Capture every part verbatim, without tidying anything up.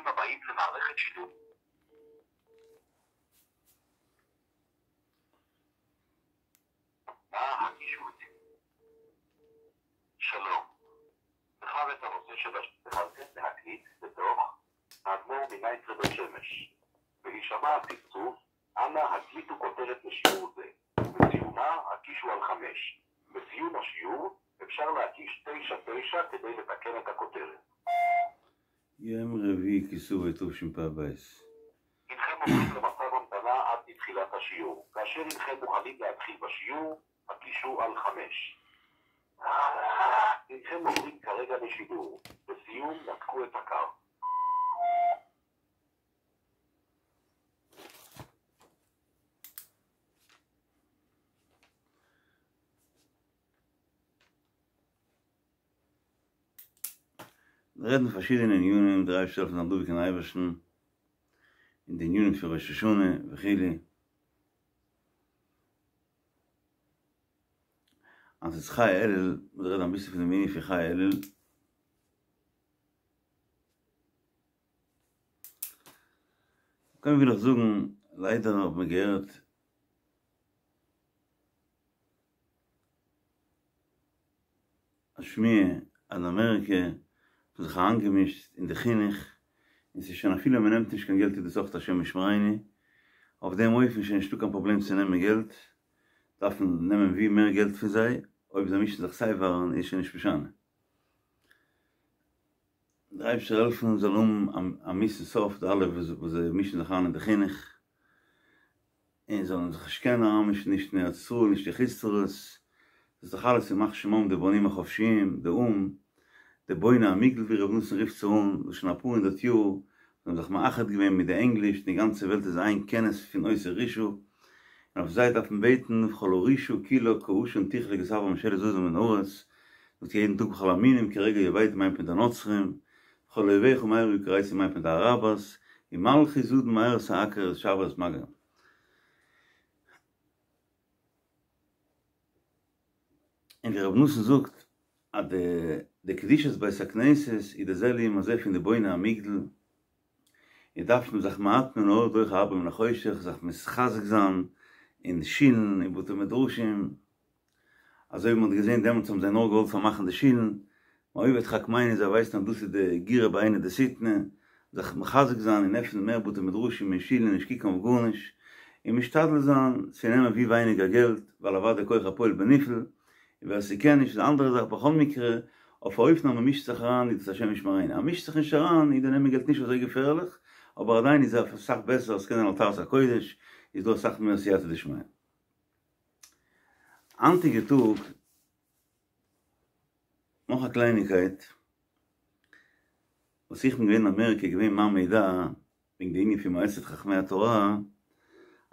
הבאים למערכת שידור. נא הקישו את שלום. בחר את הנושא של התחלתם להקליט בתוך האדמו"ר מנייטרא בית שמש. בהישמע הצפצוף, אנא הקליטו כותרת לשיעור זה. בסיומה הקישו על חמש. בסיום השיעור אפשר להקיש תשע תשע כדי לתקן את הכותרת. יום רביעי כסלו תשפ"ב. הנכם עוברים למצב המתנה עד לתחילת השיעור. כאשר הנכם מוכנים להתחיל בשיעור, הקישו על חמש. הנכם עוברים כרגע לשידור. בסיום נתקו את הקו. רעדן פארשידענע ענינים, דער אייבערשטער זאל העלפן דבוק אין אייבערשטן, אין די ענינים פון ראש השנה וכו'. אז ס'איז חי אלול, מ'וועט רעדן אביסל פון דעם ענין פון חי אלול. קודם וויל איך זאגן, ליידער האט מען געהערט א שמועה אז אין אמעריקע האט מען זיך אריינגעמישט אין די חינוך, און ס'איז שוין אפילו מען נעמט נישט קיין געלט איז דאס אויך השם ישמרינו, אויף דעם אופן איז שוין נישטא קיין פראבלעם צו נעמען געלט, דארף מען נעמען ווי מער געלט פון זיי, אויב זיי מישן זיך סיי ווי אריין איז שוין נישט משנה. דער אייבערשטער העלפן זאל האבן א מיאוס'ן סוף די אלע וואס זיי מישן זיך אריין אין די חינוך, און זאלן זיך נישט קענען אריינמישן נישט אין ארץ ישראל נישט אין חוץ לארץ, דאס איז דאך אלעס ימח שמם די בונים החופשיים, די או"ם, די בוני המגדל ווי ר' נתן רופט זיי אן, וואס שוין אפאר הונדערט יאר זיי האבן זיך מאחד געווען מיט די ענגליש און די גאנצע וועלט איז איין כנס פון אותו רשעה, און אויף זיי דארף מען בעטן וכל הרשעה כולה כעשן תכלה כי תעבור ממשלת זדון מן הארץ, זאגט יעדן טאג וכל המינים כרגע יאבדו מיינט מען די נוצרים, וכל אויביך מהרה יכרתו מיינט מען די אראבערס, ומלכות זדון מהרה תעקר ותשבר את מגע. און ווי רבי נתן זאגט אז די קדושת בית הכנסת איז די זה לעומת זה פון די בוני המגדל, און דארף מען זיך מעט מן האור דוחה הרבה מן החושך, זיך מתחזק זיין אין שילן און בתי מדרשים, אזוי ווי מען האט געזען דעמאלטס האבן זיי נאר געוואלט פארמאכן די שילן, מאויבי תחכמני זיי ווייסן אז דאס איז די גירא בעינא דשטנא, זיך מחזק זיין און עפענען מער בתי מדרשים און שילן און נישט קוקן אויף גארנישט, און משתדל זיין צו נעמען ווי ווייניגער געלט, ווייל אוודאי כח הפועל בנפעל, און ווער ס'קען נישט איז א אנדערע זאך, בכל מקרה, אויף א אופן אז מ'מישט זיך אריין איז דאס השם ישמרינו, אז מ'מישט זיך נישט אריין איז די נעמען געלט נישט אזוי געפערליך, אבער עדיין איז אסאך בעסער אז ס'קען זיין על טהרת הקודש, איז דא אסאך מער סייעתא דשמיא. היינטיגע טאג, נאך א קלייניגקייט, וואס איך בין געווען אין אמעריקע איז געווען מיין מידע וועגן די ענין פון מועצת חכמי התורה,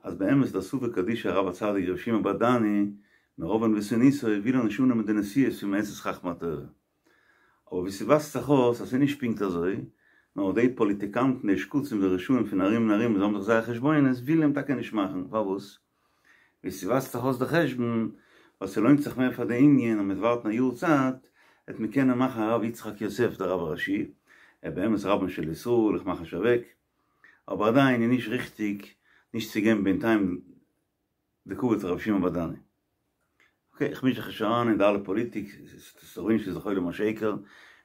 אז באמת דער סבא קדישא הרב הצדיק רבי שמעון בעדני מרוב ענוותנותו וויל ער נישט אננעמען די נשיאות פון מועצת חכמי התורה. אבער ווי ס'ווייזט זיך אויס אז ס'איז נישט פונקט אזוי, נאר די פאליטיקאנטן די שקצים די רשעים פון ארום און ארום וואס האבן זיך זייער חשבונות ווילן אים טאקע נישט מאכן, פארוואס? ווי ס'ווייזט זיך אויס די חשבון, ווייל ס'לוינט זיך מער פאר די יוניאן אז מ'וועט ווארטן א יאר צייט, וועט מען קענען מאכן הרב יצחק יוסף דער רב הראשי, ער באמת רבן של ישראל, איך מאך נישט אוועק, אבער עדיין איז נישט ריכטיג נישט צו געבן בינתיים די כבוד פאר רבי שמעון בעדני. אקעי, איך מיש זיך נישט אריין אין די אלע פאליטיק, ס'איז נישט איז עולם השקר,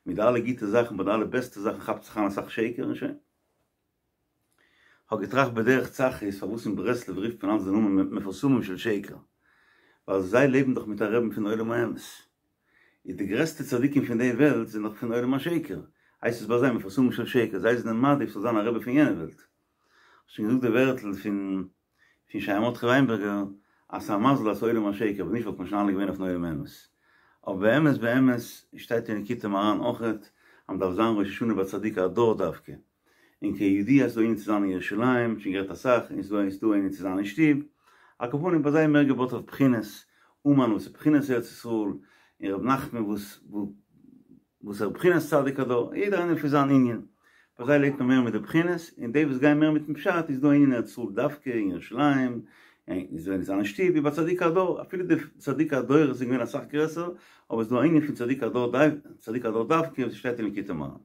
מיט די אלע גוטע זאכן, ביי די אלע בעסטע זאכן כאפט זיך איין אסאך שקר און שוין. כ'האב געטראכט בדרך צחות פארוואס אין ברסלב רופט מען אלץ די נאמען מפורסמים של שקר, ווייל זיי לעבן דאך מיט א רעבן פון עולם האמת, איז די גרעסטע צדיקים פון די וועלט זענען דאך פון עולם השקר, הייסט עס ביי זיי מפורסמים של שקר, זיי זענען מעדיף ס'זאל זיין א רבי פון יענע וועלט. כ'האב שוין געזאגט די ווערטל פון פון שייע מרדכי וויינבערגער אז ס'איז א מזל אז ס'איז עולם השקר, ווען נישט וואלט מען שוין אלע געווען אויפן עולם האמת. אבער באמת באמת שטייט אין ליקוטי מוהר"ן אויכעט אז מ'דארף זיין ראש השנה ביי צדיקי הדור דווקא. און כידוע איז דא ענין צו זיין אין ירושלים, שוין גערעדט אסאך, און ס'איז דא ענין צו זיין אין שטוב, על כל פנים ביי זיי מער געבויט אויף בחינות, אומאן וואס איז בחינת ארץ ישראל, און ר' נחמן וואס וואס איז בחינת צדיק הדור, יעדער איינער לפי זיין ענין, ביי זיי לעבט מען מער מיט די בחינות, און די וואס גייען מער מיטן פשט איז דא ענין ארץ ישראל דווקא אין ירושלים, און איז דא ענין צו זיין אין שטוב, ווי ביי צדיקי הדור, אפילו די צדיקי הדורות זענען געווען אסאך גרעסער, אבער ס'איז דא א ענין פון צדיק הדור צדיק הדור דווקא וואס שטייט אין ליקוטי מוהר"ן.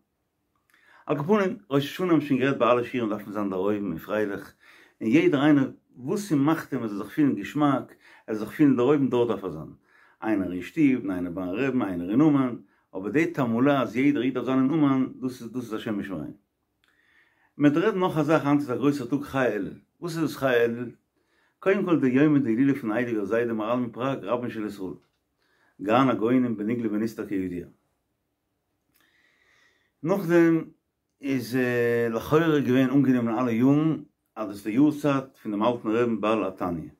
על כל פנים, ראש השנה האבן שוין גערעדט ביי אלע שיעורים דארף מען זיין דערהויבן און פרייליך, און יעדער איינער וואס ס'מאכט אים ער זאל זיך פילן געשמאק, ער זאל זיך פילן דערהויבן דארט דארף ער זיין. איינער אין שטוב, און איינער ביים רעבן, איינער אין אומאן, אבער די תעמולה אז יעדער איד דארף זיין אין אומאן, דאס איז דאס איז השם ישמרינו. מ'וועט רעדן נאך א זאך, היינט איז א גרויסער טאג ח"י אלול. וואס איז דאס ח"י אלול? קודם כל די יומא דהילולא פון הייליגער זיידע מהר"ל מפראג רבן של ישראל, גאון הגאונים בנגלה ונסתר כידוע. נאכדעם איז לכאורה געווען אנגענומען אלע יארן אז דאס איז די יארצייט פון דעם אלטן רעבן בעל התניא.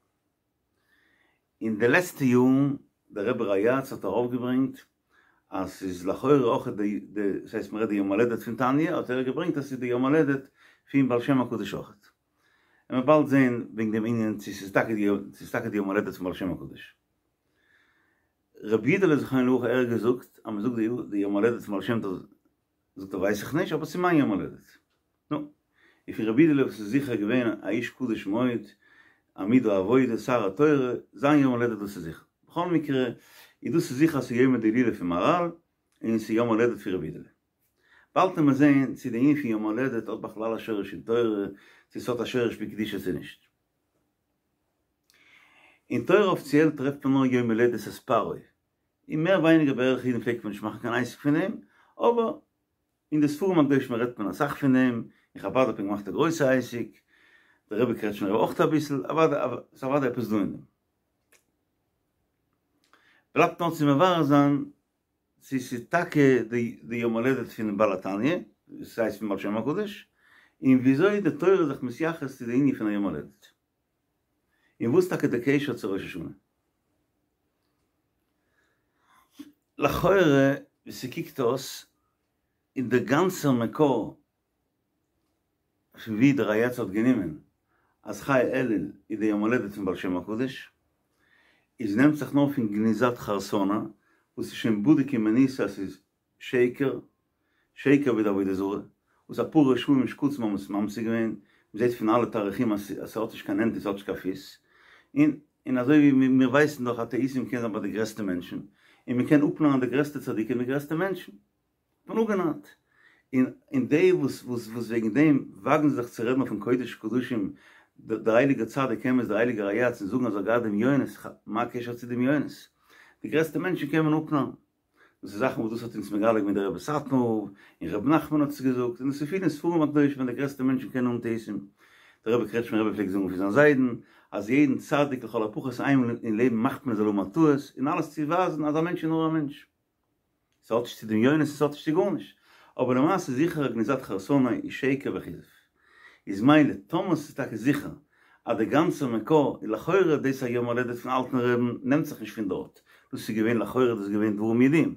אין די לעצטע יארן דער רבי ריי"צ האט ארויפגעברענגט אז ס'איז לכאורה אויך די די ס'הייסט מ'רעדט די יום הולדת פון תניא האט ער געברענגט אז ס'איז די יום הולדת פון בעל שם הקדוש אויכעט. און מ'וועט באלד זעהן וועגן דעם ענין צו ס'איז טאקע די צו ס'איז טאקע די יום הולדת פון בעל שם הקדוש. רבי יודעלע זכרונו לברכה ער האט געזאגט אז מ'זאגט די די יום הולדת פון בעל שם טוב זאגט ער ווייס איך נישט אבער ס'איז מיין יום הולדת. נו, און פון רבי יודעלע וואס איז זיכער געווען א איש קדוש מאוד, עמוד העבודה, שר התורה, זיין יום הולדת דאס איז זיכער. בכל מקרה, איז דאס איז זיכער אז ס'איז יומא דהילולא פון מהר"ל, און ס'איז יום הולדת פון רבי יודעלע. באלד וועט מען זען צו די ענין פון יום הולדת האט בכלל א שורש אין תורה, צו ס'האט א שורש בקדושה צו נישט. אין תורה אפיציעל טרעפט מען נאר יום הולדת את פרעה, און מער ווייניגער בערך אידן פלעגט מען נישט מאכן קיין עסק פון דעם, אבער אין די ספרים הקדושים רעדט מען אסאך פון דעם, אין חבד האט מען געמאכט א גרויסע עסק, דער רבי קרעטשמער אויך אביסל, אוודאי ס'איז אוודאי עפעס דא אין דעם. בלייבט נאר צו מברר זיין צו ס'איז טאקע די יום הולדת פונעם בעל התניא, דאס הייסט פון בעל שם הקדוש, און וויאזוי די תורה איז זיך מתייחס צו די ענין פון א יום הולדת. און וואס טאקע די קשר צו ראש השנה. לכאורה ווי ס'קוקט אויס איז דער גאנצער מקור פון ווי דער ריי"צ האט גענומען אז ח"י אלול איז די יום הולדת פון בעל שם הקדוש איז נעמט זיך נאר פון גניזת חרסונה וואס איז שוין בדוק ומנוסה אז ס'איז שקר, שקר ווי די עבודה זרה, וואס אפאר רשעים שקצים האבן עס ממציא געווען, מ'זעט פון אלע תאריכים אז ס'האט נישט קיין הענט און ס'האט נישט קיין פיס, און און אזוי ווי מיר ווייסן דאך אז טעותים קען זיין ביי די גרעסטע מענטשן, און מ'קען אפנארן די גרעסטע צדיקים די גרעסטע מענטשן, האט מען אפגענארט, און און די וואס וואס וואס וועגן דעם וואגן זיך צו רעדן אויפן קודש קדשים דער הייליגער צדיק אמת דער הייליגער ריי"צ און זאגן אז ער האט געהאט דמיונות, מה הקשר צו דמיונות? די גרעסטע מענטשן קען מען אפנארן. דאס איז זאכן וואס דאס האט אונז מגלה געווען דער רבי סאטמאר און רבי נחמן האט עס געזאגט, און עס איז פיל אין ספרים הקדושים ווען די גרעסטע מענטשן קענען האבן טעותים. דער רבי קרעטשמער רבי פלעגט זאגן פון זיין זיידן אז יעדן צדיק לכל הפחות איינמאל אין לעבן מאכט מען זאל האבן א טעות, און אלעס צו ווייזן אז א מענטש איז נאר א מענטש. ס'האט נישט צו דמיונות און ס'האט נישט צו גארנישט. אבער למעשה זיכער אז גניזת חרסונה איז שקר וכזב. איז מילא טאמער ס'איז טאקע זיכער אז די גאנצע מקור איז לכאורה דאס א יום הולדת פון אלטן רעבן נעמט זיך נישט פון דארט, דאס איז געווען לכאורה דאס איז געווען דברים ידועים,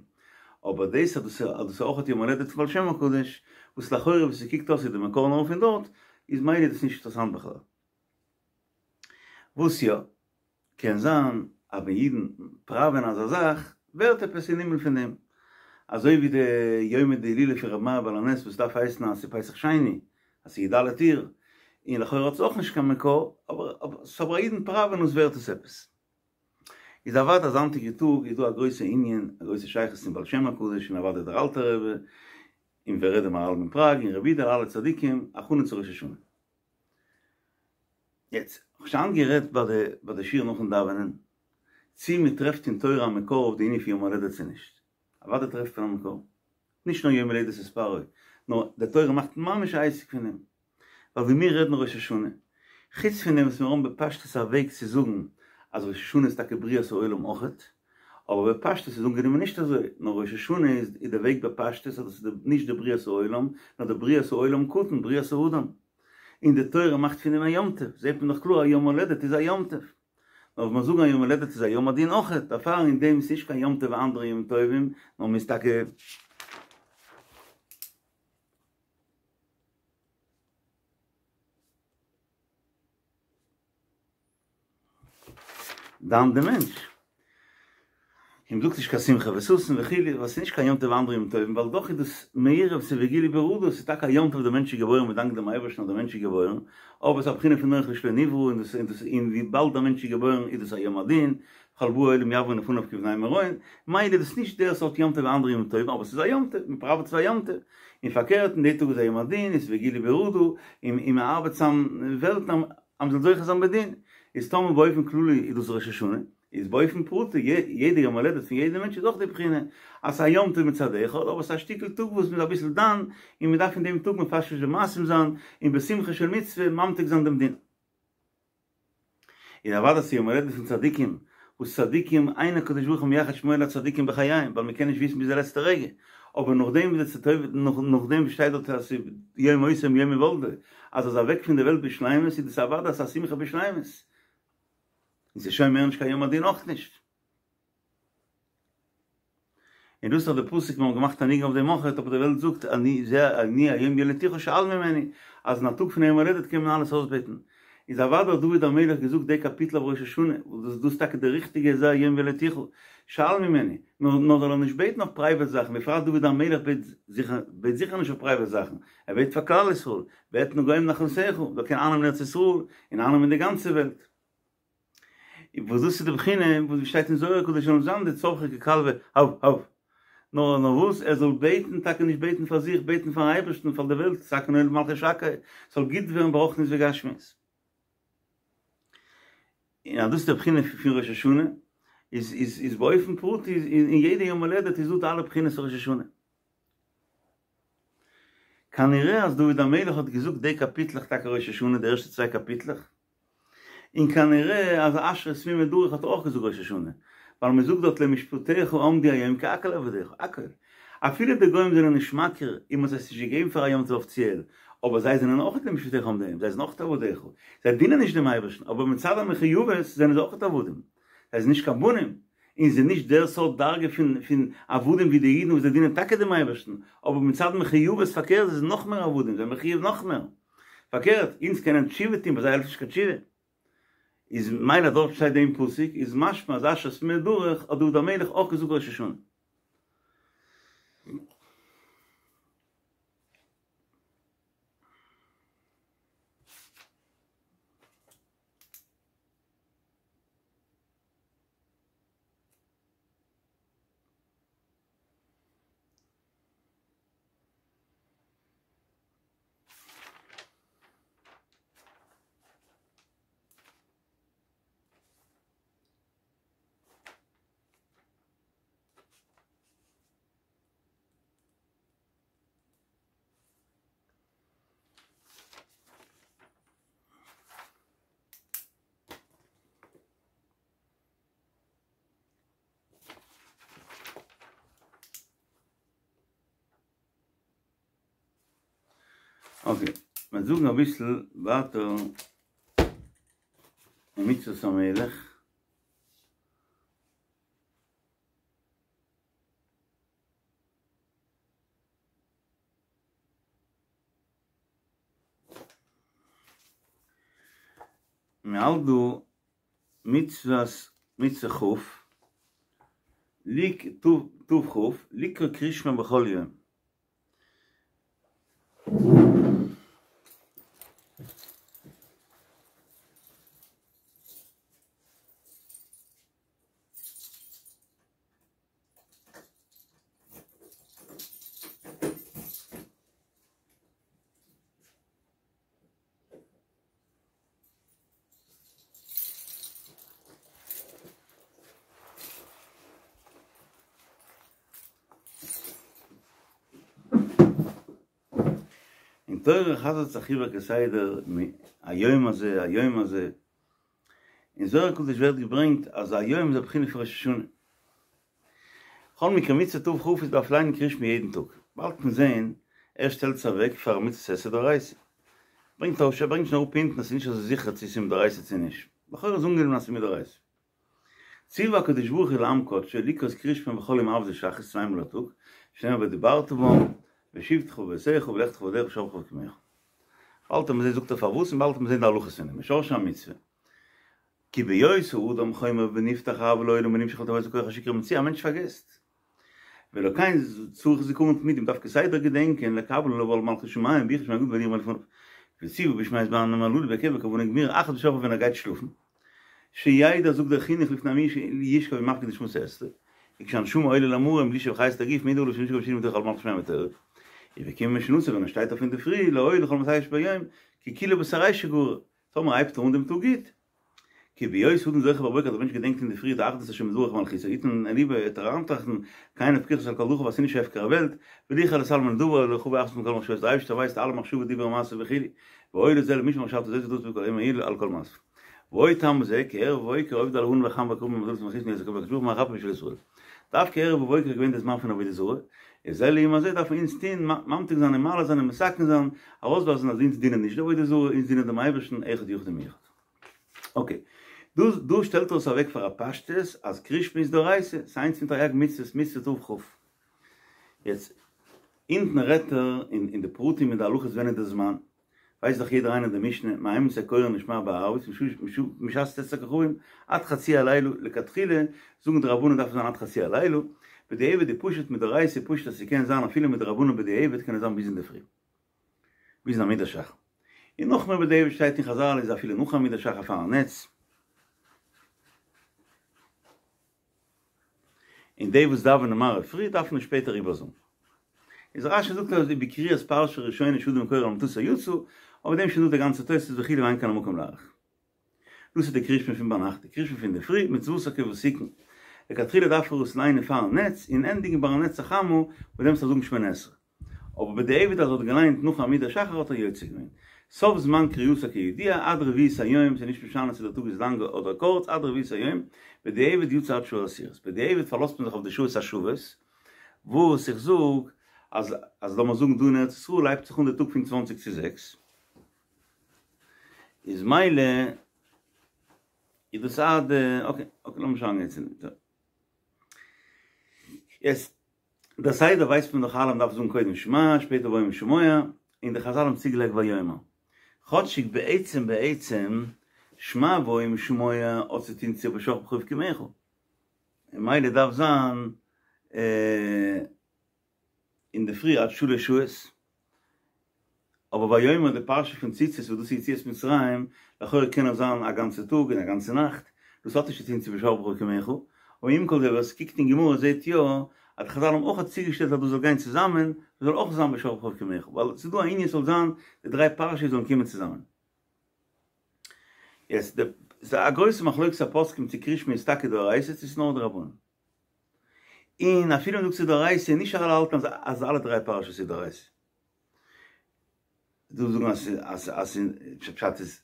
אבער דאס אז דאס אז דאס איז אויך יום הולדת פון בעל שם הקדוש, וואס לכאורה ווי ס'קוקט אויס איז די מקור נאר פון דארט, איז מילא דאס נישט אינטערעסאנט בכלל. וואס יא? קען זיין אז ווען אידן פראווען אזא זאך ווערט עפעס אין הימל פון דעם, אזוי ווי די יומא דהילולא פון רבי מאיר בעל הנס וואס דארף הייסן אז ס'איז פסח שני, אז ס'איז י"ד אייר, און לכאורה האט עס אויך נישט קיין מקור, אבער אבער אידן פראווען עס ווערט עס עפעס. איז אוודאי אז היינטיגע טאג איז דא א גרויסע ענין, א גרויסע שייכות צום בעל שם הקדוש און אוודאי דער אלטער רבי, און ווער רעדט דער מהר"ל מפראג און רבי יודעלע אלע צדיקים, הכנה צו ראש השנה. יעצט, כ'האב שוין גערעדט ביי די ביי די שיעור נאכן דאווענען, צי מען טרעפט אין תורה א מקור אויף די ענין פון יום הולדת צו נישט. אוודאי טרעפט מען א מקור. נישט נאר יום הולדת את פרעה, נאר די תורה מאכט ממש א עסק פון דעם. ווייל ווי מיר רעדן ראש השנה, חוץ פון דעם וואס מיר האבן בפשטות א וועג צו זאגן אז ראש השנה איז טאקע בריאת העולם אויכעט, אבער בפשטות איז אנגענומען נישט אזוי, נאר ראש השנה איז די וועג בפשטות אז דאס איז נישט די בריאת העולם, נאר די בריאת העולם קטן, בריאת האדם. און די תורה מאכט פון דעם א יום טוב, זעט מען דאך קלאר א יום הולדת איז א יום טוב. נאר ווען מיר זאגן א יום הולדת איז א יום הדין אויכעט, דערפאר אין דעם איז נישט קיין יום טוב ווי אנדערע ימים טובים, נאר מ'איז טאקע. דן די מענטש. און מ'זאגט נישט קיין שמחה וששון וכו', ווייל ס'איז נישט קיין יום טוב ווי אנדערע ימים טובים, ווייל דאך איז דאס מעורב ס'איז וגילו ברעדה, ס'איז טאקע א יום טוב די מענטש איז געבוירן מ'דאנקט דעם אייבערשטן אז די מענטש איז געבוירן, אבער ס'איז א בחינה פון נח לשלא נברא, און דאס און דאס און וויבאלד א מענטש איז געבוירן איז דאס א יום הדין, כל באי עולם יעברון לפניו כבני מרון, מילא איז דאס נישט דער סארט יום טוב ווי אנדערע ימים טובים, אבער ס'איז א יום טוב, מ'פראוועט עס א יום טוב, און פארקערט אין די טאג איז א יום הדין, איז וגילו ברעדה, און און מען ארבעט צאם וועלטן אז מען זאל זוכה זיין בדין, איז טאמער באופן כללי איז דאס ראש השנה, איז באופן פרטי יעדע יום הולדת פון יעדע מענטש איז אויך די בחינה אז ס'איז א יום טוב מצד אחד, אבער ס'איז א שטיקל טאג וואס מ'איז אביסל דן, און מ'דארף אין דעם טאג מפשפש במעשים זיין, און בשמחה של מצוה ממתיק זיין דעם דין. און אוודאי ס'איז יום הולדת פון צדיקים, וואס צדיקים אין הקדוש ברוך הוא מייחד שמו לצדיקים בחייהם, ווייל מ'קען נישט וויסן ביז די לעצטע רגע, אבער נאכדעם ווי די נאכדעם ווי שטייט דארט אז ס'איז יום מותו מיום הולדו, אז ער איז אוועק פון די וועלט בשלימות, איז דאס אוודאי אז ס'איז א שמחה בשלימות. און ס'איז שוין מער נישט קיין יום הדין אויך נישט. און דאס איז דאך די פסוק, מיר האבן געמאכט א ניגון אויף דעם אויך, אבער די וועלט זאגט אני זה אני היום ילדתיך שאל ממני, אז אין א טאג פון יום הולדת קען מען אלעס אויסבעטן. איז אוודאי האט דוד המלך געזאגט די קאפיטל אויף ראש השנה, וואס דאס דאס איז טאקע די ריכטיגע זה היום ילדתיך שאל ממני, נאר נאר זאל ער נישט בעטן אויף פרייוועט זאכן, בפרט דוד המלך בעט זיכער בעט זיכער נישט אויף פרייוועט זאכן, ער בעט פאר כלל ישראל, ואתנה גוים נחלתך, זאל קענען אייננעמען ארץ ישראל, און אייננעמען די גאנצע וועלט. וואס דאס איז די בחינה וואס שטייט אין זוהר הקדוש זאל נישט זיין די צווחי ככלבא הב הב, נאר נאר וואס ער זאל בעטן, טאקע נישט בעטן פאר זיך, בעטן פארן אייבערשטן, פאר די וועלט, תקון עולם מלכות שקי, ס'זאל גוט ווערן ברוחניות וגשמיות. און אז דאס איז די בחינה פון ראש השנה, איז איז איז באופן פרטי אין יעדע יום הולדת איז דא די אלע בחינות פון ראש השנה. כנראה אז דוד המלך האט געזאגט די קאפיטלעך טאקע ראש השנה, די ערשטע צוויי קאפיטלעך, און כנראה אז אשרי תמימי דרך האט ער אויך געזאגט ראש השנה, ווייל מען זאגט דארט למשפטיך עמדו היום כי הכל עבדיך, הכל. אפילו די גוים זענען נישט מכיר און מען האט עס נישט געגעבן פאר א יום טוב אפיציעל, אבער זיי זענען אויך למשפטיך עמדו היום, זיי זענען אויך עבדיך, זיי דינען נישט דעם אייבערשטן, אבער מצד המחויבות זענען זיי אויך עבדים, זיי זענען נישט קיין בנים, און זענען נישט דער סארט דרגה פון פון עבדים ווי די אידן וואס זיי דינען טאקע דעם אייבערשטן, אבער מצד מחויבות פארקערט זיי זענען נאך מער עבדים, זיי זענען מחויב נאך מער. פארקערט, אונז קענען תשובה טון, ביי זיי העלפט נישט קיין תשובה. איז מילא דארט שטייט דעם פסוק, איז משמע אז אשרי תמימי דרך האט דוד המלך אויך געזאגט ראש השנה. אקעי, מיר זאגן אביסל ווייטער אין מצוות המלך. מען האלט דא מצוות מצוה כ', ליק תכ, לקרוא קריאת שמע בכל יום. אין תורה חזר'ט זיך איבער כסדר היום הזה היום הזה, אין זוהר הקדוש ווערט געברענגט אז היום איז א בחינה פון ראש השנה. בכל מקרה מצוה תכ איז דארף ליינען קריאת שמע יעדן טאג, באלד וועט מען זעהן ער שטעלט עס אוועק פאר מצות עשה דאורייתא, ברענגט ער ברענגט שוין אראפ אונטן אז ס'איז נישט אזוי זיכער צו ס'איז מדאורייתא צו נישט, לכאורה איז אנגענומען אז ס'איז מדאורייתא. ציוה הקדוש ברוך הוא לעם קדשו לקרות קריאת שמע בכל יום עבדי שחרית צוויי מאל א טאג, שנאמר ודברת בם, בשבתך בביתך ובלכתך בדרך בשכבך ובקומך. באלד וועט מען זעהן זאגט ער פארוואס און באלד וועט מען זעהן די הלכות פון דעם, משורשי המצוה. כי בהיות האדם חומר ונפתח אהבה לעולם ונמשך לטבעו כח השכחה ומצויה, א מענטש פארגעסט. ולכן צריך זכרון תמידי, מ'דארף כסדר געדענקען לקבל עליו עול מלכות שמים ויראה שמו הגדול והנראה מלפניו. וציוה בשמע זמנים הללו בהיקף וכוונה גמורה אחת בשכבו ווען ער גייט שלאפן. שידע זאגט דער חינוך לפני מי שישכב ומפקיד נשמתו אצלו. וכשהנשמה עולה למרום לישאב חיות הגוף מעיד עליו שנשכב בשינה מתוך עול מלכות שמים ותורה. ובקומו משנתו, ווען ער שטייט אויף אינדערפרי, להודיע לכל מעשיו שביום, כי כולהו בתרייתא שגרו, טאמער הייבט ער אן דעם טאג גוט. כי בהיות האדם זוכר בבוקר, דער מענטש געדענקט אינדערפרי די אחדות השם יתברך ומלכותו, יתן אל לבו, וועט ער אריינטראכטן, כי אין פיקוחו על כל דרכיו אז ס'איז נישט הפקר וועלט, וליחר לתלמוד דבר אלא הוא באחדות מכל מחשבות, דער אייבערשטער ווייסט אלע מחשבות דיבור ומעשה וכו', ואוי לזה למשמע מחשבתו זאת ודבר בכל יום על כל מעשיו. ועוד טעם בזה, כי ערב ובוקר עובדי הלבנה והחמה והכוכבים והמזלות והמלכות מיד הקדוש ברוך הוא מרחם בשביל ישראל. דווקא ערב ובוקר איז געווען די זמן פון עבודה זרה, איז זה לעומת זה דארף מען אונז טון, ממתיק זיין און מעלה זיין און מתקן זיין, ארויסווייזן אז אונז דינען נישט די עבודה זרה, אונז דינען דעם אייבערשטן אחד יחיד ומיוחד. אקעי, דא דא שטעלט ער עס אוועק פאר א פשטות אז קריאת שמע איז דאורייתא, ס'איז איינס פון תרי"ג מצוות, מצוה תכ. יעצט, אונטן רעדט ער אין די פרטים אין די הלכות ווען איז די זמן, ווייסט דאך יעדער איינער די משנה, מאימתי קורין את שמע בערבית, משעת צאת הכוכבים עד חצי הלילה, לכתחילה זאגן די רבנן דארף עס זיין עד חצי הלילה, בדיעבד איז פשוט מדאורייתא פשוט אז ס'קען זיין אפילו מדרבנן בדיעבד קען עס זיין ביז אינדערפרי, ביזן עמוד השחר. און נאכמער בדיעבד שטייט אין חזל איז אפילו נאך עמוד השחר פארן נץ. און די וואס דאווענען מעריב פרי דארפן עס שפעטער איבערזאגן. איז רשי זאגט אז ובקריאת פרשה ראשונה שאדם קורא על מטתו יצא, אויף דעם שוין דא די גאנצע תוספות וכו' ואין כאן המקום להאריך. דאס איז די קריאת שמע פון ביינאכט, די קריאת שמע פון די פרי, מצוותה כוותיקין. לכתחילה דארף ער עס ליינען פארן נץ, און ענדיגן ביי הנץ החמה, וואס דעמאלטס זאל ער זאגן שמונה עשרה. אבער בדיעבד אז ער האט געליינט נאך עמוד השחר האט ער יוצא געווען. סוף זמן קריאתה כידוע, עד רביעית היום, ס'איז נישט משנה צו דער טאג איז לאנג אדער קורץ, עד רביעית היום, בדיעבד יצא עד שעה עשירית. בדיעבד פארלאזט מען זיך אויף די שעות השוות, וואס איך זאג אז אז לאמיר זאגן דא אין ארץ ישראל הייבט זיך אן די טאג פון צוואנציג צו זעקס, איז מילא איז דאס עד, אקעי, אקעי לאמיר שוין אריינגיין צו דעם. יעצט, דער סדר ווייסט מען דאך אלע, מ'דארף זאגן קודם שמע, שפעטער והיה אם שמוע, און די חזל האבן צוגעלייגט ויאמר. כאטשיג בעצם בעצם, שמע והיה אם שמוע האט צו טון צו בשכבך ובקומך. און מילא דארף זיין אינדערפרי עד שלש שעות. אבער ויאמר די פרשה פון ציצית וואס דאס איז יציאת מצרים, לכאורה קען עס זיין א גאנצע טאג און א גאנצע נאכט, דאס האט נישט צו טון צו בשכבך ובקומך, אבער עם כל זה ווער עס קוקט אין גמרא זעט יא אז די חזל האבן אויך צוגעשטעלט אז דאס זאל גיין צוזאמען, דאס זאל אויך זיין בשכבך ובקומך, ווייל עס איז דא א ענין ס'זאל זיין די דריי פרשות זאלן קומען צוזאמען. יעצט די, ס'איז א גרויסע מחלוקת הפוסקים צו קריאת שמע איז טאקע דאורייתא צו ס'איז נאר דרבנן. און אפילו מ'זאגט ס'איז דאורייתא, נישט אלע האלטן אז אז אלע דריי פרשות איז דאורייתא. דא זאגן אז אז אז פשט איז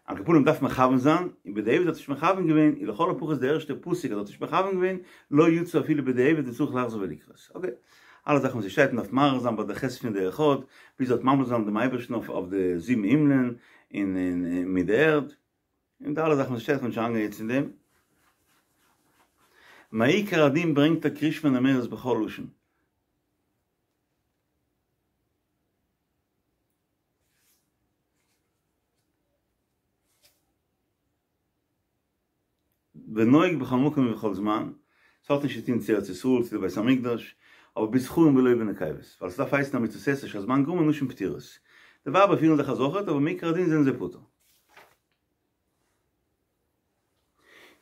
על כל פנים דארף מכוון זיין, און בדיעבד האט נישט מכוון געווען, און לכל הפחות די ערשטע פסוק אז ער האט נישט מכוון געווען, לא יצא אפילו בדיעבד וצריך לחזור ולקרות. אקעי. אלע זאכן וואס עס שטייט מ'דארף מאריך זיין ביי די ח' פון די אחד, ביז ער האט ממליך זיין דעם אייבערשטן אויף אויף די זיבן הימלען און און מיט די ערד, און די אלע זאכן וואס עס שטייט, כ'בין נישט אריינגיין יעצט אין דעם. מעיקר הדין ברענגט ער קריאת שמע נאמרת בכל לשון. ונוהג בכל מקום ובכל זמן, ס'האט נישט צו טון צו ארץ ישראל צו די בית המקדש, אבער בזכרים ולא בנקבות, ווייל ס'דארף הייסן א מצות עשה שהזמן גרמא נשים פטורות. די ווייבער פירן זיך אזוי אויכעט, אבער מעיקר הדין זענען זיי פטור.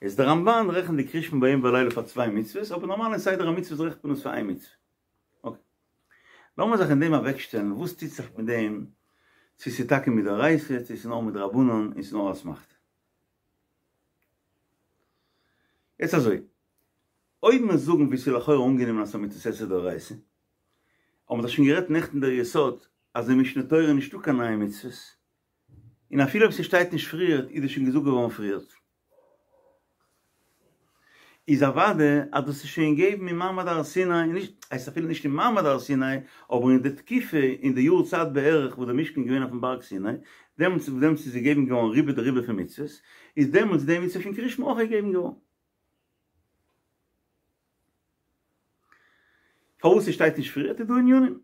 איז דער רמבן רעכנט די קריאת שמע ביום ובלילה פאר צוויי מצוות, אבער נארמאל אין סדר המצוות רעכנט מען עס פאר איין מצוה. אקעי. לאמיר זיך אין דעם אוועקשטעלן, וואס טוט זיך מיט דעם, צו ס'איז טאקע מדאורייתא, צו ס'איז נאר מדרבנן און ס'איז נאר אסמכתא. יעצט אזוי, אויב מיר זאגן ווי ס'איז לכאורה אנגענומען אז ס'איז א מצות עשה דאורייתא, האבן מיר דאך שוין גערעדט נעכטן דער יסוד אז אין משנה תורה איז נישטא קיין נייע מצוות, און אפילו אויב ס'שטייט נישט פריערט איז דאס שוין געזאגט געווארן פריערט. איז אוודאי אז דאס איז שוין געגעבן אין מעמד הר סיני, נישט, הייסט אפילו נישט אין מעמד הר סיני, אבער אין די תקופה, אין די יאר צייט בערך וואס דער משכן איז געווען אויפן בארג סיני, דעמאלטס דעמאלטס איז געגעבן געווארן רובא דרובא פון מצוות, איז דעמאלטס די מצוה פון קריאת שמע אויך געגעבן געווארן. פארוואס ס'שטייט נישט פריערט איז דא ענינים.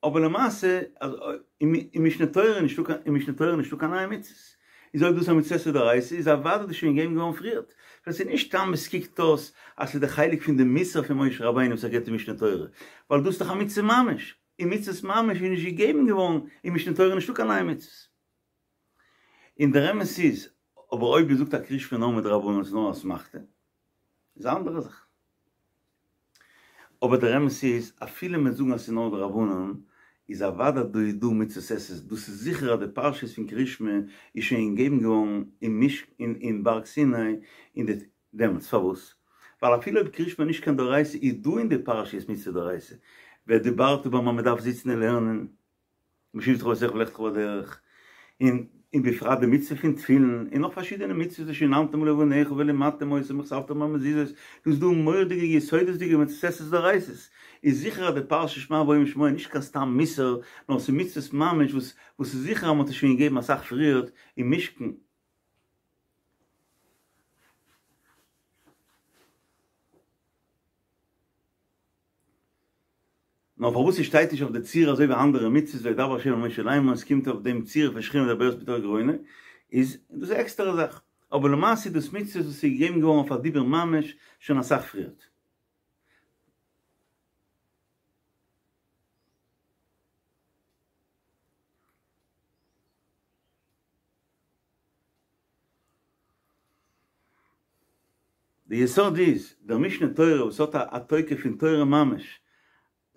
אבער למעשה אז אין משנה תורה איז נישטא קיין אין משנה תורה איז נישטא קיין נייע מצוות, איז אויב דאס איז א מצות עשה דאורייתא איז אוודאי דאס שוין געגעבן געווארן פריערט, ווייל ס'איז נישט סתם עס קוקט אויס אז ס'איז די חלק פון די מוסר פון משה רבינו וואס ער געבט אין משנה תורה, ווייל דאס איז דאך א מצוה ממש, און מצוות ממש איז נישט געגעבן געווארן אין משנה תורה איז נישטא קיין נייע מצוות. און דער אמת איז, אבער אויב מ'זאגט אז קריאת שמע נאר מדרבנן איז נאר אסמכתא, איז א אנדערע זאך. אבער דער אמת איז, אפילו מיר זאגן אז ס'איז נאר דרבנן, איז אוודאי דא איז דא מצוות עשה, דאס איז זיכער אז די פרשיות פון קריאת שמע איז שוין געגעבן געווארן אין מש אין אין בארג סיני אין די דעמאלטס, פארוואס? ווייל אפילו אויב קריאת שמע איז נישט קיין דאורייתא איז דא אין די פרשיות מצוה דאורייתא, ודברת בם אז מ'דארף זיצן און לערנען, בשבתך בביתך ובלכתך בדרך, און און בפרט די מצוה פון תפילין, און נאך פארשידענע מצוות ושננתם לבניך ולמדתם אותם וכתבתם על מזוזות, דא איז דא מורא'דיגע יסודות'דיגע מצוות עשה דאורייתא'ס, איז זיכער אז די פרשה שמע והיה אם שמוע איז נישט קיין סתם מוסר, נאר ס'איז מצוות ממש וואס וואס איז זיכער אז מ'האט עס שוין געגעבן אסאך פריערט אין משכן. נאר פארוואס ס'שטייט נישט אויף די צורה אזוי ווי אנדערע מצוות וידבר ה' אל משה לאמור עס קומט אויף דעם צורה פון שכינה מדברת מתוך גרונו איז דאס א עקסטערע זאך אבער למעשה איז דאס מצוות וואס איז געגעבן געווארן אויף א דיבור ממש שוין אסאך פריערט. די יסוד איז, דער משנה תורה וואס האט א תוקף פון תורה ממש,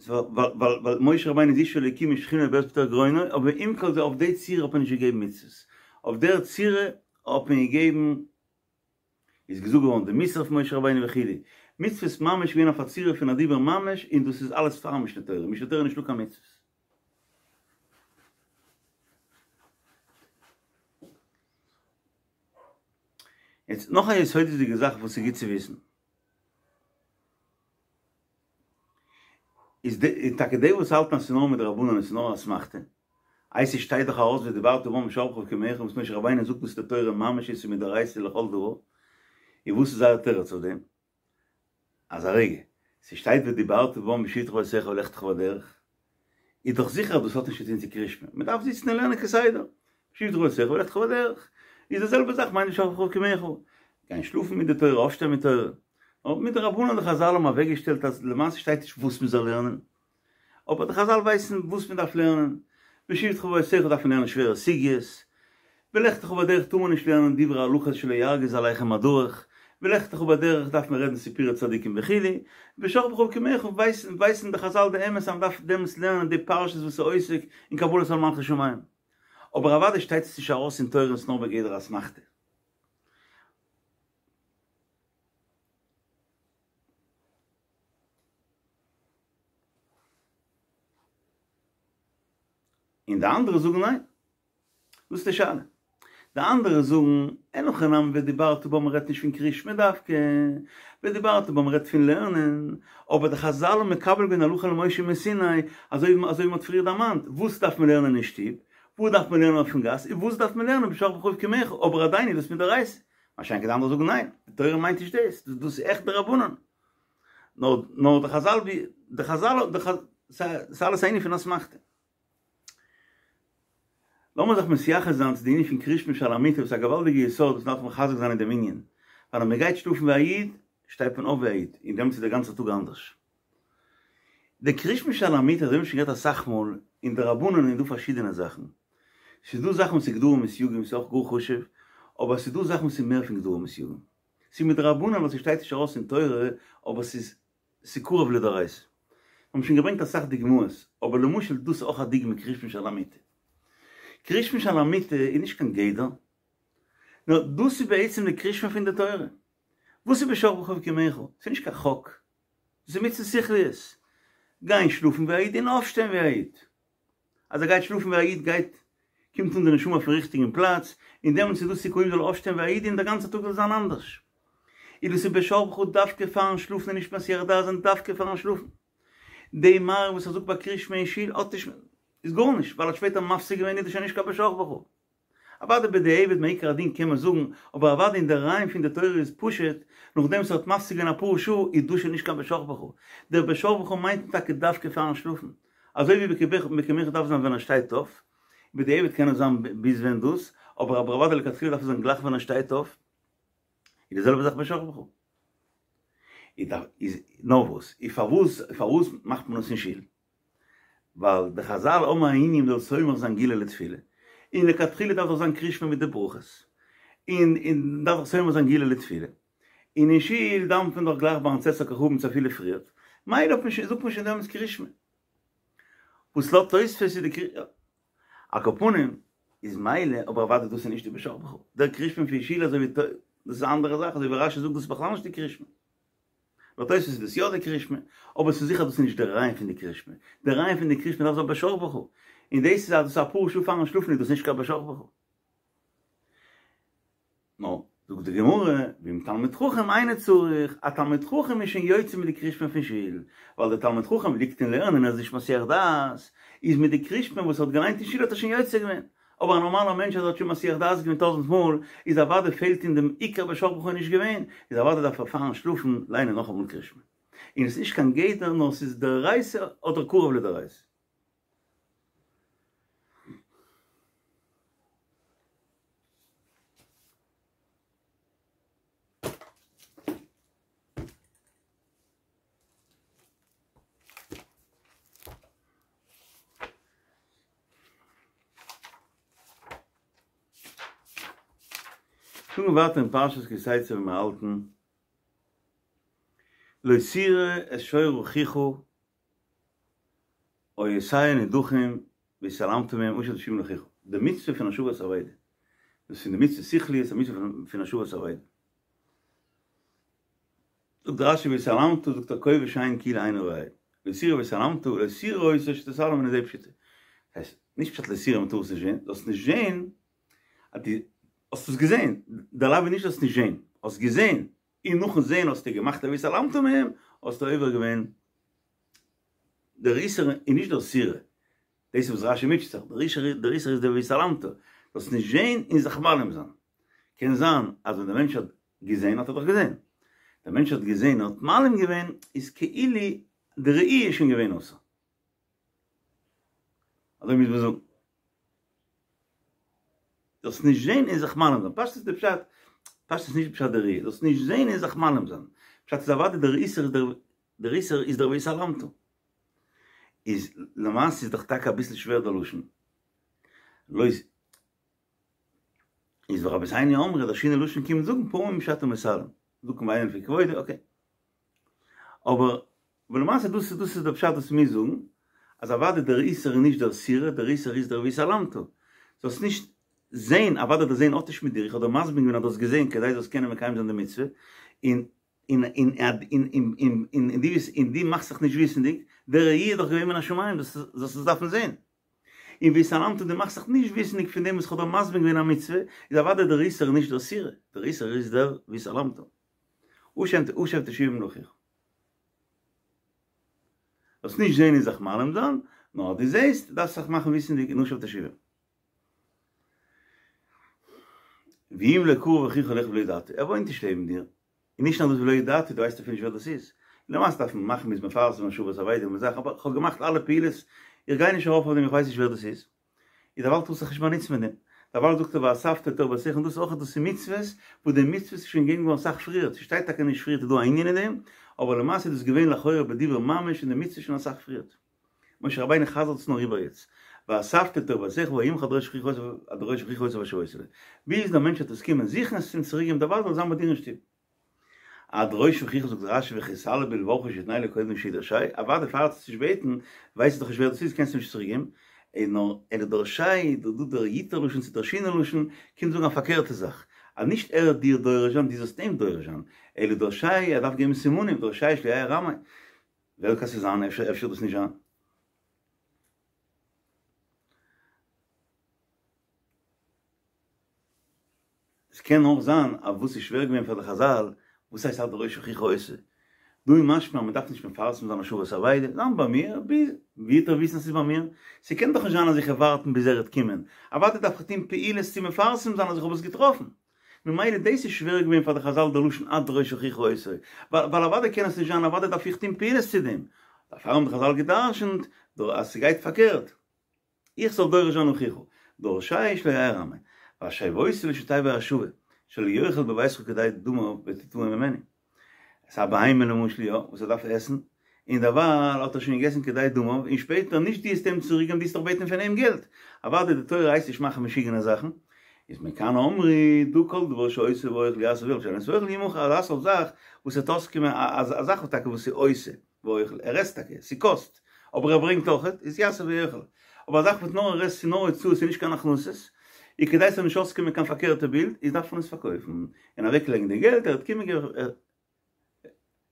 ווייל משה רבינו איז איש אלוקים און שכינה מדברת מתוך גרונו, אבער עם כל זה אויף די צורה האט מען נישט געגעבן מצוות, אויף דער צורה האט מען געגעבן, איז געזאגט געווארן די מוסר פון משה רבינו וכו', מצוות ממש געווען אויף א צורה פון א דיבור ממש און דאס איז אלעס פאר משנה תורה, משנה תורה איז נישטא קיין מצוות. יעצט נאך א יסודות'דיגע זאך וואס איז גוט צו וויסן, איז די, טאקע די וואס האלטן אז ס'איז נאר מדרבנן און ס'איז נאר אסמכתא, איי ס'שטייט דאך ארויס ודברת בם בשכבך ובקומך וואס משה רבינו זאגט דאס די תורה ממש איז מדאורייתא לכל דבר, און וואס איז זייער תירוץ אויף דעם? אז א רגע, ס'שטייט ודיברת בם בשבתך בביתך ובלכתך בדרך, איז דאך זיכער אז דאס האט נישט צו טון צו קריאת שמע, מ'דארף זיצן און לערנען כסדר, בשבתך בביתך ובלכתך בדרך, איז די זעלבע זאך מיינט בשכבך ובקומך, גיין שלאפן מיט די תורה, אויפשטיין מיט תורה, אבער מדרבנן די חזל האבן אוועקגעשטעלט אז למעשה שטייט נישט וואס מ'זאל לערנען, אבער די חזל ווייסן וואס מען דארף לערנען, בשבתך בביתך דארף מען לערנען שווערע סוגיות, בלכתך בדרך טאר מען נישט לערנען דברי הלכות שלא ירגיז עליכם הדרך, בלכתך בדרך דארף מען רעדן סיפורי צדיקים וכו', בשכבך ובקומך ווייסן ווייסן די חזל די אמת אז מען דארף דעמאלטס לערנען די פרשות וואס איז עוסק אין קבלת עול מלכות שמים, אבער אוודאי שטייט עס נישט ארויס אין תורה און ס'נאר בגדר אסמכתא. און די אנדערע זאגן ניין. דאס איז די שאלה. די אנדערע זאגן, אין הכי נמי ודיברת בם מ'רעדט נישט פון קריאת שמע דווקא, ודיברת בם מ'רעדט פון לערנען, אבער די חזל האבן מקבל געווען הלכה למשה מסיני, אזוי ווי מ'האט פריער דערמאנט, וואס דארף מען לערנען אין שטוב, וואס דארף מען לערנען אויפן גאס, און וואס דארף מען לערנען בשכבך ובקומך, אבער עדיין איז דאס מדאורייתא. מה שאין כן די אנדערע זאגן ניין, די תורה מיינט נישט דאס, דאס איז עכט דרבנן. נאר נאר די חזל ווי די חזל די חז ס'איז אלעס א ענין פון אסמכתא. לאמיר זיך מתייחס זיין צו די ענין פון קריאת שמע שעל המיטה וואס איז א געוואלדיגע יסוד וואס מ'דארף מחזק זיין אין דעם ענין, ווייל אז מ'גייט שלאפן ווי א איד, שטייט מען אויף ווי א איד, און דעמאלטס איז דער גאנצער טאג אנדערש. די קריאת שמע שעל המיטה, אזוי ווי מ'האט שוין גערעדט אסאך מאל, אין דרבנן איז דא פארשידענע זאכן. ס'איז דא זאכן וואס איז גדרים וסייגים וואס איז אויך גאר חשוב, אבער ס'איז דא זאכן וואס איז מער פון גדרים וסייגים. ס'איז מדרבנן ווייל ס'שטייט נישט ארויס אין תורה, אבער ס'איז ס'איז קרוב לדאורייתא. מיר האבן שוין געברענגט אסאך דוגמאות, אבער למשל דאס איז אויך א דוגמא קריאת שמע שעל המיטה. קריאת שמע שעל המיטה איז נישט קיין גדר, נאר דאס איז בעצם די קריאת שמע פון די תורה. וואס איז בשכבך ובקומך? ס'איז נישט קיין חוק. דאס איז מצוות שכליות. גיין שלאפן ווי א איד און אויפשטיין ווי א איד. אז ער גייט שלאפן ווי א איד גייט קומט אן די נשמה אויפן ריכטיגן פלאץ, און דעמאלטס איז דא סיכויים זאל אויפשטיין ווי א איד און דער גאנצער טאג זאל זיין אנדערש. איז דאס איז בשכבך דווקא פארן שלאפן און נישט מסיח דעת זיין דווקא פארן שלאפן. די מעריב וואס ער זאגט ביי קריאת שמע אין שול האט נישט איז גארנישט ווייל ער האט שפעטער מפסיק געווען איז דאס שוין נישט קיין בשכבך. אוודאי בדיעבד מעיקר הדין קען מען זאגן, אבער אוודאי אין די רעיון פון די תורה איז פשוט, נאכדעם וואס ער האט מפסיק געווען אפאר שעה איז דאס שוין נישט קיין בשכבך. דער בשכבך מיינט טאקע דווקא פארן שלאפן. אזוי ווי ובקומך דארף זיין ווען ער שטייט אויף, בדיעבד קען עס זיין ביז ווען דאס, אבער אבער אוודאי לכתחילה דארף עס זיין גלייך ווען ער שטייט אויף, איז די זעלבע זאך בשכבך. איז נאר וואס, איז פארוואס פארוואס מאכט מען עס אין שול? ווייל די חזל האבן א ענין מ'זאל סומך זיין גאולה לתפילה, און לכתחילה דארף דאך זיין קריאת שמע מיט די ברכות, און און דארף דאך סומך זיין גאולה לתפילה, און אין שול דאווענט מען דאך גלייך ביים צאת הכוכבים צו אפילו פריערט, מילא האט מען שוין, זאגט מען שוין דעמאלטס קריאת שמע. וואס לויט תוספות איז די קריאת, על כל פנים איז מילא, אבער אוודאי דאס איז נישט די בשכבך. דער קריאת שמע פון שול אזוי ווי דאס איז א אנדערע זאך, אזוי ווי רשי זאגט דאס איז בכלל נישט די קריאת שמע. לויט תוספות איז דאס יא די קריאת שמע, אבער ס'איז זיכער דאס איז נישט דער רעיון פון די קריאת שמע. דער רעיון פון די קריאת שמע דארף זיין בשכבך. און דאס איז אז דאס איז אפאר שעה פארן שלאפן איז דאס נישט קיין בשכבך. נו, זאגט די גמרא, ואם תלמיד חכם אינו צריך, א תלמיד חכם איז שוין יוצא מיט די קריאת שמע פון שול, ווייל דער תלמיד חכם ליגט אין לערנען און איז נישט מסיח דעת, איז מיט די קריאת שמע וואס ער האט געליינט אין שול האט ער שוין יוצא געווען. אבער א נארמאלער מענטש אז ער האט שוין מסיח דעת געווען טויזנט מאל, איז אוודאי פעלט אין דעם עיקר בשכבך נישט געווען, איז אוודאי דארף ער פארן שלאפן ליינען נאכאמאל קריאת שמע. און עס איז נישט קיין גדר נאר ס'איז דאורייתא אדער קרוב לדאורייתא. שוין ווייטער אין פרשת כי תצא ווי מיר האלטן, לא תראה את שור אחיך או עושהו נדחים והתעלמת מהם השב תשיבם לאחיך, די מצוה פון השבת אבידה, דאס איז פון די מצוות שכליות, א מצוה פון השבת אבידה. זאגט רשי והתעלמת, זאגט ער כובש עין כאילו אינו רואה, לא תראה והתעלמת, לא תראה אותו שתתעלם ממנו זה פשיטא. הייסט, נישט פשט לא תראה מ'טאר עס נישט זען, זאלסט נישט זען אז דו האסט עס געזען, דער לאו איז נישט זאלסט נישט זען, האסט געזען, און נאכן זען האסטו געמאכט א והתעלמת מהם, האסטו עובר געווען דער איסור איז נישט דער תראה, דאס איז וואס רשי מוטשעט זיך, דער איסור איז דער והתעלמת, זאלסט נישט זען און זיך מעלים זיין. קען זיין אז ווען דער מענטש האט געזען האט ער דאך געזען, דער מענטש האט געזען און האט מעלים געווען איז כאילו די ראי' איז שוין געווען אסור. אזוי מוז מען זאגן. זאלסט נישט זען און זיך מעלים זיין. פשטות איז די פשט, פשטות איז נישט פשט די ראי', זאלסט נישט זען און זיך מעלים זיין. פשט איז אוודאי דער איסור איז דער דער איסור איז דער והתעלמת. איז למעשה איז דאך טאקע אביסל שווער דער לשון. לא איז ורבותינו אמרו דער שינוי לשון קומט זאגן פעמים שאתה מתעלם. זאגט מען ואינו לפי כבודו, אקעי. אבער ולמעשה דאס איז דאס איז דער פשט וואס מיר זאגן, אז אוודאי דער איסור איז נישט דער תראה, דער איסור איז דער והתעלמת. זאלסט נישט זען, אוודאי דער זען האט נישט מיט דיר, איך האב דיר מסביר געווען אז דו האסט געזען כדי זאלסט קענען מקיים זיין די מצוה, און און און און און און און דו ביסט און דו מאכסט זיך נישט וויסענדיג, די ראי' איז דאך געווען מן השמים, זאלסט זאלסט עס דארפן זען. און והתעלמת דו מאכסט זיך נישט וויסענדיג פון דעם וואס איך האב דיר מסביר געווען א מצוה, איז אוודאי דער איסור נישט דער תראה, דער איסור איז דער והתעלמת. השב תשיבם לאחיך. זאלסט נישט זען און זיך מעלים זיין, נאר אז דו זעסט דארפסט זיך מאכן וויסענדיג און השב תשיבם. ואם לא קרוב אחיך אליך ולא ידעת, ער וואוינט נישט לעבן דיר, און נישט נאר דאס ולא ידעת, דו ווייסט אפילו נישט ווער דאס איז, למעשה דארף מען מאכן מ'איז מפרסם השבת אבידה און זאכן, אבער כ'האב געמאכט אלע פעולות, איך גיי נישט ארויף אויף דעם איך ווייס נישט ווער דאס איז, איז דערווייל טארסט זיך נישט באנוצן מיט דעם, דערווייל זאגט ער ואספת אל תוך ביתך און דאס אויך דאס איז מצוות, וואס די מצוות איז שוין געגעבן געווארן אסאך פריער, ס'שטייט טאקע נישט פריערט איז דא א ענין אין דעם, אבער למעשה איז דאס געווען לכאורה בדיבור ממש און די מצוה שוין אסאך פריערט. משה רבינו חזר'ט עס נאר איבער יעצט, ואספת אל תוך ביתך והיה עמך עד דרוש אחיך עד דרוש אחיך אותו והשבות אליה. ביז דער מענטש וועט עס קומען זוכן עס אים צוריק געבן דערווייל זאל עס זיין ביי דיר אין שטוב. עד דרוש אחיך זאגט רשי וכי תעלה בלבבך שיתנהו קודם שידרשהו, אוודאי פאר ער וועט עס נישט בעטן, ווייסט ער דאך נישט ווער דאס איז קענסטו נישט צוריק געבן, און נאר אלא דרשהו, דא דא דער ייטב לשון צו דער שינוי לשון, קומט זאגן א פארקערטע זאך, אז נישט ער וועט דיר דורש זיין, דו זאלסט אים דורש זיין, אלא דרשהו, ער דארף געבן סימנים, דרשהו שלא יהא רמאי. ווער קען ס'זיין? אפשר אפשר דאס נישט זיין. עס קען אויך זיין אז וואס איז שווער געווען פאר די חזל, וואס הייסט עד דרוש אחיך אותו? דא איז משמע אז מען דארף נישט מפרסם זיין השבת אבידה, זיין ביי מיר, ביז ווי וועט ער וויסן אז ס'איז ביי מיר? ס'קען דאך נישט זיין אז איך וועל ווארטן ביז ער וועט קומען, אוודאי דארף איך טון פעולות צו מפרסם זיין אז איך האב עס געטראפן. ממילא דאס איז שווער געווען פאר די חזל די לשון עד דרוש אחיך אותו, ווייל אוודאי קען עס נישט זיין אוודאי דארף איך טון פעולות צו דעם, דערפאר האבן די חזל גע'דרש'נט אז ס'גייט פארקערט, איך זאל דורש זיין אחיך, דרשהו שלא יהא רמאי, והשבותו לו שתבא השבה, שלא יאכל בביתך כדי דמיו ותתבעו ממנו. עס איז א בהמה למשל יא, וואס ער דארף עסן, און דערווייל האט ער שוין געגעסן כדי דמיו, און שפעטער נישט דו וועסט אים צוריק געבן דו וועסט דאך בעטן פון אים געלט, אוודאי די תורה הייסט נישט מאכן משוגענע זאכן, איז מכאן אמרו דא כל דבר שעושה ואוכל יעשה ואוכל שאינו עושה ואוכל ימכר אזא סארט זאך וואס וועט אויסקומען א זאך וואס טאקע וואס איז עושה. ואוכל, ער עסט טאקע, ס'קאסט, אבער ער ברענגט אויכעט, איז יעשה ויאכל. אבער א זאך וואס נאר ער עסט ס'איז נאר הוצאות ס'איז נישט קיין הכנסות, איז כדי ס'זאל נישט אויסקומען קיין פארקערטע בילד, איז דארף מען עס פארקויפן, און אוועקלייגן די געלט, ער וועט קומען ער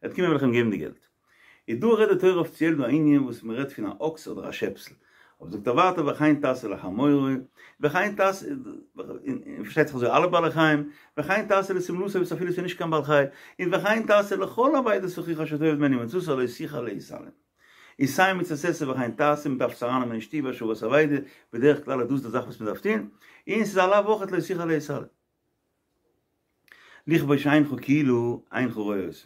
וועט קומען וועל איך אים געבן די געלט. איז דא רעדט די תורה אפיציעל דא א ענין וואס מען רעדט פון א אקס אדער א שעפסל, אבער זאגט ער ווייטער וכן תעשה לחמורו, וכן תעשה, און פארשטייט זיך אזוי אלע בעלי חיים, וכן תעשה לשמלתו וואס אפילו ס'איז נישט קיין בעל חי, און וכן תעשה לכל אבידת אחיך אשר תאבד ממנו ומצאת לא תוכל להתעלם. איז סיי מצות עשה וכן תעשה, מען דארף עס ארייננעמען אין שטוב השבת אבידה, בדרך כלל איז דאס די זאך וואס מען דארף טון, און ס'איז א לאו אויכעט לא תוכל להתעלם. לכבוש עינך כאילו אינך רואה אותו.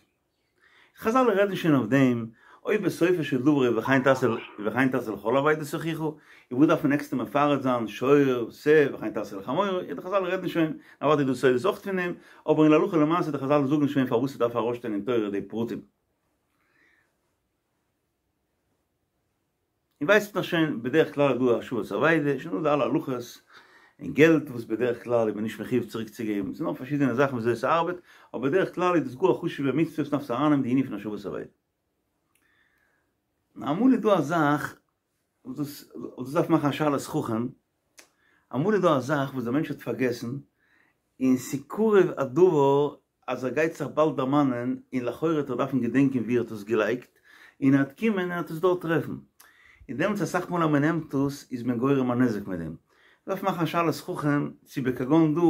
חזל רעדן שוין אויף דעם, אויב בסופו של דבר וכן תעשה וכן תעשה לכל אבידת אחיך, און וואס דארף מען עקסטער מפרט זיין שור, שה, וכן תעשה לחמורו, די חזל רעדן שוין, אוודאי איז דא סודות אויך פון דעם, אבער אין להלכה למעשה די חזל זאגן שוין פארוואס ס'דארף ארויסשטיין אין תורה די פרטים. און ווייסט נאך שוין בדרך כלל איז דא השבת אבידה, שוין דא די אלע הלכות, און געלט וואס בדרך כלל איז מען נישט מחיוב צוריק צו געבן, ס'איז נאך פארשידענע זאכן וויאזוי ס'ארבעט, אבער בדרך כלל איז דאס גאר א חשוב'ע מצוה וואס מ'דארף ארייננעמען די ענין פון השבת אבידה. נאר אמאל איז דא א זאך וואס דאס וואס דאס דארף מאכן א שאלת חכם, אמאל איז דא א זאך וואס דער מענטש האט פארגעסן, און ס'קרוב הדבר אז ער גייט זיך באלד דערמאנען און לכאורה וועט ער דארפן געדענקען ווי ער האט עס געלייגט, און ער וועט קומען און ער וועט עס דארט טרעפן. און דעמאלטס אסאך מאל אז מען נעמט עס איז מען גורם א נזק מיט דעם. מ'דארף מאכן א שאלת חכם צו בכגון דא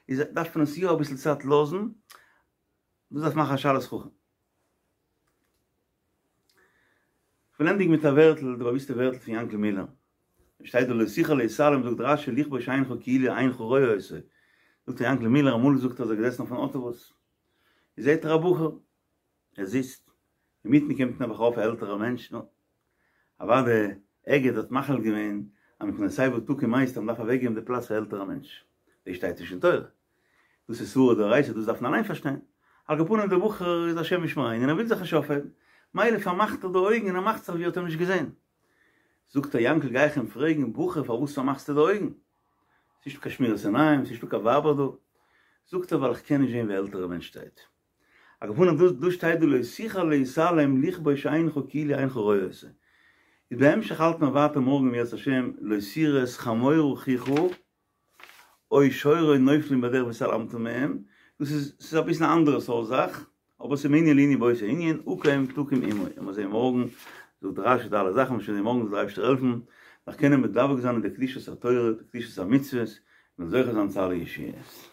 איז דארף מען עס יא אביסל צייט לאזן, דאס דארף מאכן א שאלת חכם. כ'וויל ענדיגן מיט א ווערטל, די באוויסטע ווערטל פון יענקל מילער. שטייט דא לא תוכל להתעלם זאגט רשי לכבוש עינך כאילו אינך רואה אותו. זאגט ר' יענקל מילער אמאל זאגט ער אז ער איז געזעסן אויפן אוטובוס זעהט ער א בחור ער זיצט אינמיטן קומט נעבעך ארויף א עלטערער מענטש נו אוואדע אגד האט מחליט געווען אז מפני שיבה תקום הייסט אז מ'דארף אוועקגעבן די פלאץ פאר עלטערע מענטש דאס שטייט נישט אין תורה דאס איז סברא דאורייתא דאס דארף מען אליין פארשטיין על כל פנים דער בחור איז השם ישמרינו און ער וויל זיך נישט אויפהייבן מילא פארמאכט ער די אויגן און ער מאכט זיך ווי ער האט אים נישט געזען זאגט ער יענקל גיי איך אים פרעגן בחור פארוואס פארמאכסטו די אויגן? ס'נישטא קיין שמירת עיניים, ס'נישטא קיין ווייבער דא. זאגט ער ווייל איך קען נישט זען ווי א עלטערע מענטש שטייט. על כל פנים דא דא שטייט דא לא תוכל להתעלם לכבוש עינך כאילו אינך רואה אותו. איז בהמשך האלט מען ווייטער מארגן אם ירצה השם לא תראה את חמור אחיך או שורו נופלים בדרך והתעלמת מהם, דאס איז ס'איז אביסל א אנדערע סארט זאך, אבער ס'איז מענין לענין באותו ענין, עקום תקום עמו, עמיר זעהן מארגן, זאגט רשי די אלע זאכן, מ'וועט שוין זעהן מארגן זאל דער אייבערשטער העלפן, נאך קענען מדבק זיין אין די קדושת התורה, די קדושת המצוות, און זוכה זיין צו אלע ישועות.